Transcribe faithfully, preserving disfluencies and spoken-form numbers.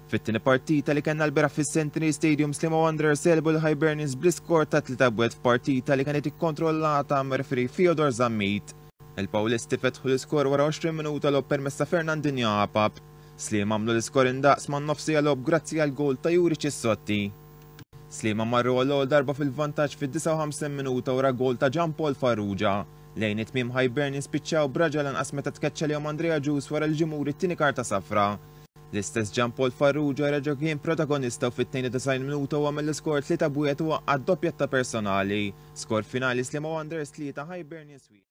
Fit-tieni partita li kellna lbieraħ fis-Centenary Stadium, Sliema Wanderers għelbu l-Hibernians bl-iskor ta' tlieta wieħed f'partita li kienet ikkontrollata mir-referee Fyodor Zammit. Il-Pawlisti fetħu l-iskor wara għoxrin minuta logħob permezz ta' Fernandinho Apap. Sliema għamlu l-iskor indaqs man-nofs siegħa logħob grazzi għal gol ta' Juri Cissotti. Sliema marru għall-ewwel darba fil-vantaġġ fid-disgħa u ħamsin minuta wara gol ta' Jean Paul Farrugia. Lejn it-tmiem Hibernians spiċċaw b'raġel anqas meta tkeċċa lihom Andrea Ġus wara li ġie muri t-tieni karta safra. L-istess Jean Paul Farrugia reġa' kien protagonista u fit-tnejn u disgħin minuta u għamel l-iskor tlieta b'wieħed u għaqqad doppjetta personali. Skor finali Sliema Wanderers tlieta, Hibernians wieħed.